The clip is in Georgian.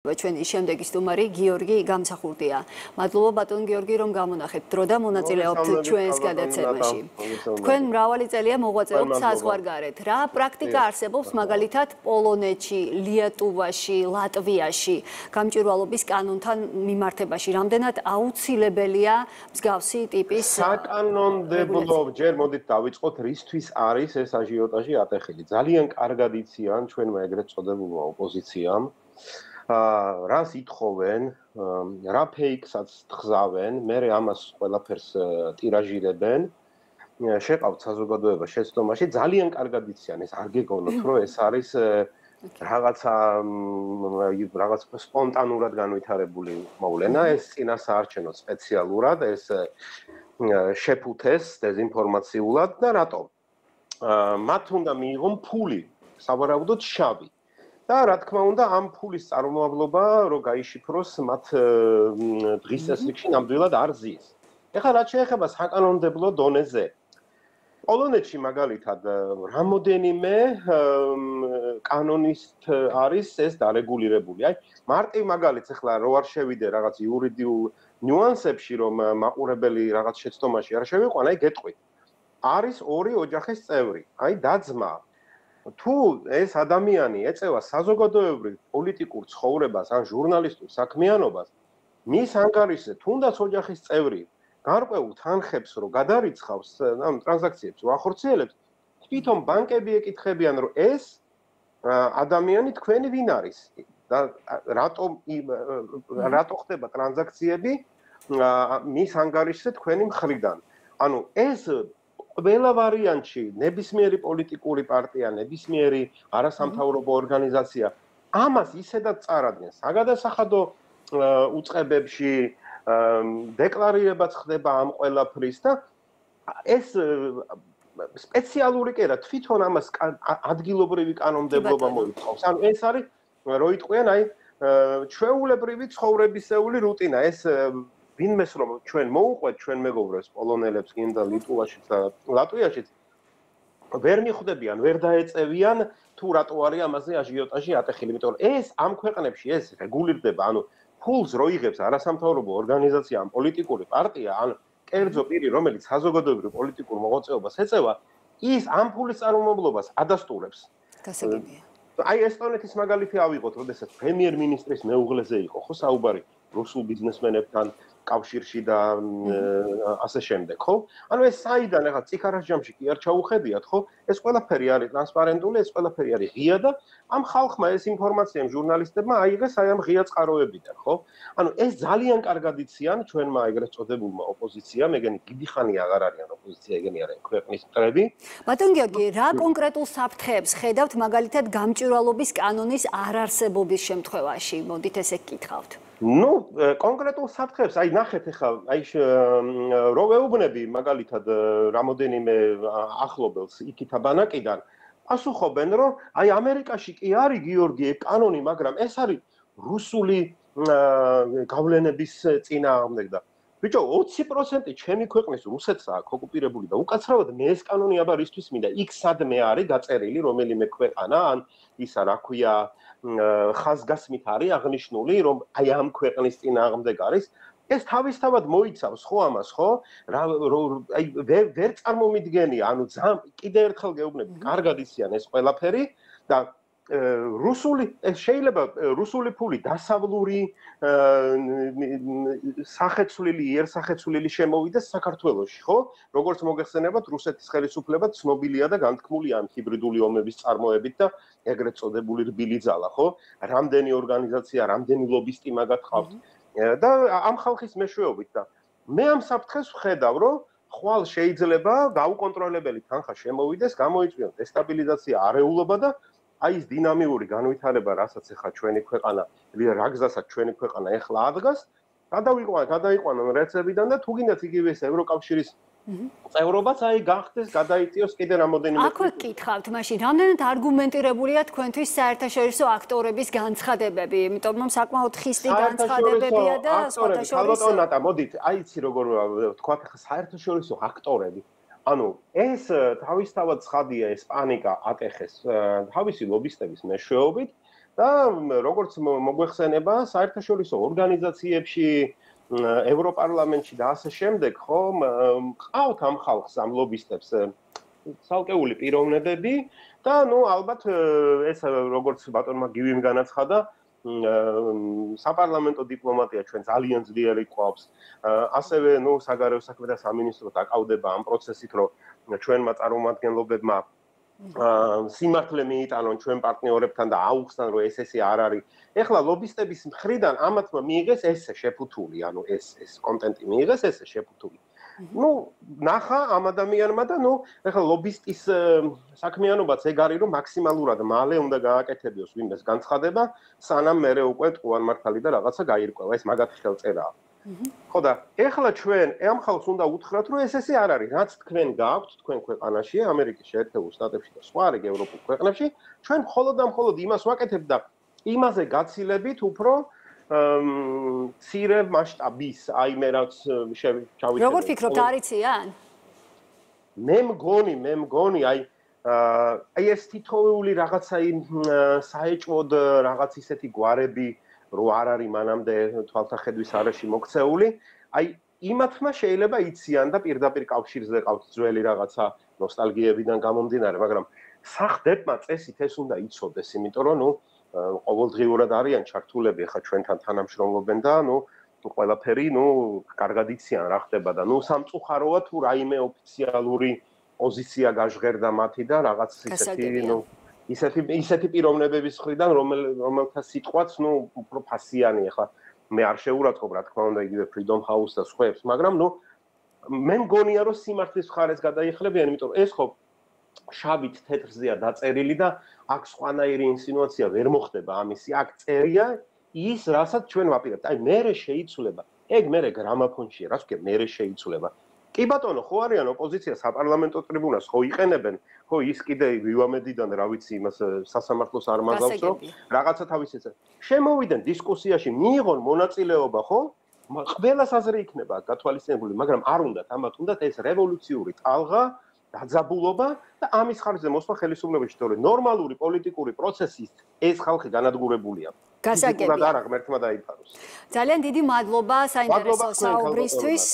ჩვენი შემდეგი სტუმარი გიორგი გამსახურდია. მადლობა ბატონ გიორგი, რომ გამონახეთ დრო და მონაწილეობთ ჩვენს გადაცემაში. თქვენ მრავალი წელია მოღვაწეობთ საზღვარგარეთ. რა პრაქტიკა არსებობს მაგალითად პოლონეთში, ლიეტუვაში, ლატვიაში გამჭვირვალობის კანონთან მიმართებაში? რამდენად აუცილებელია მსგავსი ტიპის საკანონმდებლო ჯერ მოდით დავიწყოთ რისთვის არის ეს აჟიოტაჟი ატეხილი. ძალიან კარგად იციან ჩვენმა ეგრეთ წოდებულმა ოპოზიციამ რას ითხოვენ, რა ფეიქსაც თხზავენ, მერე ამას ყველაფერს ტირაჟირებენ, შეყავთ საზოგადოება შეცდომაში, ძალიან კარგად იციან, ეს არ გეგონოთ, რომ ეს არის რაღაც სპონტანურად განვითარებული მოვლენა, ეს წინასაარჩევნო სპეციალურად, ეს შეფუთეს დეზინფორმაციულად და რატომ? მათ უნდა მიიღონ ფული, სავარაუდოდ შავი. და რა თქმა უნდა ამ ფულის წარმომავლობა რომ გაიშიფროს მათ დღის წესრიგში ნამდვილად არ ზის. ეხლა რაც შეეხება საკანონმდებლო დონეზე პოლონეთში მაგალითად რამოდენიმე კანონით არის ეს დარეგულირებული. აი მარტივ მაგალითს ეხლა რო არ შევიდე რაღაც იურიდიულ ნიუანსებში რომ მაყურებელი რაღაც შეცდომაში არ შევიყვან, აი გეტყვით. არის ორი ოჯახის წევრი, აი და-ძმა თუ ეს ადამიანი ეწევა საზოგადოებრივ პოლიტიკურ ცხოვრებას ან ჟურნალისტურ საქმიანობას, მის ანგარიშზე თუნდაც ოჯახის წევრი გარკვეულ თანხებს რო გადარიცხავს, ამ ტრანზაქციებს რო ახორციელებს, თვითონ ბანკები ეკითხებიან, რომ ეს ადამიანი თქვენი ვინ არის და რატო ხდება ტრანზაქციები მის ანგარიშზე თქვენი მხრიდან. ანუ ეს ყველა ვარიანტში ნებისმიერი პოლიტიკური პარტია, ნებისმიერი არასამთავრობო ორგანიზაცია ამას ისედაც წარადგენს. საგადასახადო უწყებებში დეკლარირებაც ხდება ამ ყველაფრის და ეს სპეციალური კი არა, თვითონ ამას ადგილობრივი კანონმდებლობა მოითხოვს. ანუ ეს არის რო იტყვიან, აი ჩვეულებრივი ცხოვრებისეული რუტინა. ეს ვინმეს რომ ჩვენ მოუყვეთ ჩვენ მეგობრებს პოლონელებს გინდა ლიტვაშიც და ლატვიაშიც ვერ მიხვდებიან, ვერ დაეწევიან თუ რატო არის ამაზე აჟიოტაჟი ატეხილი, იმიტომ რომ ეს ამ ქვეყნებში ეს რეგულირდება, ანუ ფულს რო იღებს არასამთავრობო ორგანიზაცია, ან პოლიტიკური პარტია, ან კერძო პირი, რომელიც საზოგადოებრივ პოლიტიკურ მოღვაწეობას ეწევა, ის ამ ფულის წარმომავლობას ადასტურებს. გასაგებია. აი ესტონეთის მაგალითი ავიღოთ, როდესაც პრემიერ-მინისტრის მეუღლეზე იყო ხო საუბარი რუსულ ბიზნესმენებთან კავშირში და ასე შემდეგ, ხო? ანუ ეს საიდან ახლა ციხარას ჯამში კი არ ჩაუხედიათ, ხო? ეს ყველაფერი არის ტრანსპარენტული, ეს ყველაფერი არის ღია და ამ ხალხმა ეს ინფორმაცია ამ ჟურნალისტებმა აიღეს აი ამ ღია წყაროებიდან, ხო? ანუ ეს ძალიან კარგად იციან ჩვენმა ეგრეთ წოდებულმა ოპოზიციამ, ეგენი დიდი ხანი აღარ არიან ოპოზიცია, ეგენი არიან ქვეყნის მტრები. ბატონ გიორგი, რა კონკრეტულ საფრთხეებს ხედავთ მაგალითად გამჭვირვალობის კანონის არარსებობის შემთხვევაში? მოდით ესე გკითხავთ. ნუ კონკრეტულ საფრთხეებს, აი ნახეთ ახლა, აი რო ვეუბნები მაგალითად რამოდენიმე ახლობელს იქითა ბანაკიდან, პასუხობენ, რომ აი ამერიკაში კი არის გიორგი კანონი, მაგრამ ეს არის რუსული გავლენების წინააღმდეგ და ბიჭო 20% ჩემი ქვეყნის რუსეთს აქვს ოკუპირებული და უკაცრავად მე ეს კანონი აბა რისთვის მინდა? იქ სადმე არის გაწერილი რომელიმე ქვეყანა ან ისა რა ქვია ხაზგასმით არის აღნიშნული, რომ აი ამ ქვეყნის წინააღმდეგ არის. ეს თავისთავად მოიცავს ხო ამას, ხო? აი ვერ წარმომიდგენია, ანუ კიდევ ერთხელ გეუბნები, კარგად იციან ეს ყველაფერი და რუსული შეიძლება რუსული ფული დასავლური სახეცვლილი, იერსახეცვლილი შემოვიდეს საქართველოში, ხო? როგორც მოგეხსენებათ, რუსეთის ხელისუფლება ცნობილია და განთქმულია ამ ჰიბრიდული ომების წარმოებით და ეგრეთ წოდებული რბილი ძალა, ხო? რამდენი ორგანიზაცია, რამდენი ლობისტი მაგათ ხავთ და ამ ხალხის მეშვეობით და მე ამ საფრთხეს ვხედავ, რომ ხვალ შეიძლება გაუკონტროლებელი თანხა შემოვიდეს, გამოიწვიოს დესტაბილიზაცია, არეულობა და აი ეს დინამიური განვითარება, რასაც ახლა ჩვენი ქვეყანა, რა გზასაც ჩვენი ქვეყანა ახლა ადგას, გადაიყვანონ რეცებიდან და თუ გინდათ იგივე ეს ევროკავშირის წევრობაც აი გახდეს, გადაიწიოს კიდე რამოდენიმე. აქვე გკითხავთ, მაშინ რამდენად არგუმენტირებულია თქვენთვის საერთაშორისო აქტორების განცხადებები, იმიტომ რომ საკმაოდ ხისტი განცხადებებია და სხვათა შორის. ალბათ ნატა, მოდით, აი იცი როგორ ვთქვათ, ახლა საერთაშორისო აქტორები ანუ ეს თავისთავად ცხადია ეს პანიკა ატეხეს თავისი ლობისტების მეშვეობით და როგორც მოგვეხსენება საერთაშორისო ორგანიზაციებში ევროპარლამენტში და ასე შემდეგ ხო ყავთ ამ ხალხს ამ ლობისტებს ცალკეული პიროვნებები და ალბათ ეს როგორც ბატონმა გივიმ განაცხადა საპარლამენტო დიპლომატია ჩვენ ძალიან ძლიერი ყავს ასევე საგარეო საქმეთა სამინისტრო დაკავდება ამ პროცესით რომ ჩვენმა წარმომადგენლობებმა სიმართლე მიიტანონ ჩვენ პარტნიორებთან და აუხსნან რომ ესე არ არის. ეხლა ლობისტების მხრიდან ამათმა მიიღეს ესე შეფუთული, ანუ ეს კონტენტი მიიღეს ესე შეფუთული. ნახა ამ ადამიანმა და ეხლა ლობისტის საქმიანობაც ეგ არის რომ მაქსიმალურად მალე უნდა გააკეთებიოს ვინმეს განცხადება, სანამ მერე უკვე ტყუანმართალი და რაღაცა გაირკვევა. ეს მაგათ ხელწერაა. ხო და ეხლა ჩვენ ამ ხალხს უნდა უთხრათ რომ ესე არ არის, რაც თქვენ გააქვთ თქვენ ქვეყანაში, ამერიკის შეერთებულ შტატებში და სხვა რეგ ევროპულ ქვეყნებში, ჩვენ მხოლოდ და მხოლოდ იმას ვაკეთებთ და იმაზე გაცილებით უფრო ცირე მასშტაბის, აი მე რაც ჩავიწერე. როგორ ფიქრობთ, არიციან? მე მგონი, აი ეს თითოეული რაღაცა საეჭვოდ რაღაც ისეთი გვარები რო არ არის მანამდე თვალთახედვის არეში მოქცეული, აი იმათმა შეიძლება იციან და პირდაპირ კავშირზე ყავთ ძველი რაღაცა ნოსტალგიებიდან გამომდინარე, მაგრამ სახდებმა წესით ეს უნდა იცოდეს, იმიტომ რომ ყოველდღიურად არიან ჩართულები ხა ჩვენთან თანამშრომლობენ და ყველაფერი კარგად იციან რა ხდება და სამწუხაროა თუ რაიმე ოფიციალური პოზიცია გაჟღერდა მათი და რაღაც ისეთი პიროვნებების მხრიდან რომელთა სიტყვაც უფრო ფასიანია ხა მე არ შეურაცხყოფ რა თქმა უნდა იგივე Freedom House და სხვებს მაგრამ მე მგონია რომ სიმართლის მხარეს გადაიხლებიან იმიტომ რომ ეს ხო შავით თეთრზეა დაწერილი და აქ სხვანაირი ინსინუაცია ვერ მოხდება ამისი აქ წერია ის რასაც ჩვენ ვაპირებთ აი მერე შეიცვლება ეგ მერე გრამაფონშია რაც ვქე მერე შეიცვლება კი ბატონო ხო არიან ოპოზიცია საპარლამენტო ტრიბუნას ხო იყენებენ ხო ის კიდე ვივამედიდან რა ვიცი იმას სასამართლოს არ მაგავს რომ რაღაცა თავის ეს შემოვიდნენ დისკუსიაში მიიღონ მონაწილეობა ხო ყველას აზრი იქნება გათვალისწინებული მაგრამ არ უნდათ ამათ უნდათ ეს რევოლუციური ტალღა დაძაბულობა და ამის ხარჯზე მოსვლა ხელისუფლებაში თორე ნორმალური პოლიტიკური პროცესის ეს ხალხი განადგურებულია გასაგებია და რა ღმერთმა დაიფაროს ძალიან დიდი მადლობა საინტერესო საუბრისთვის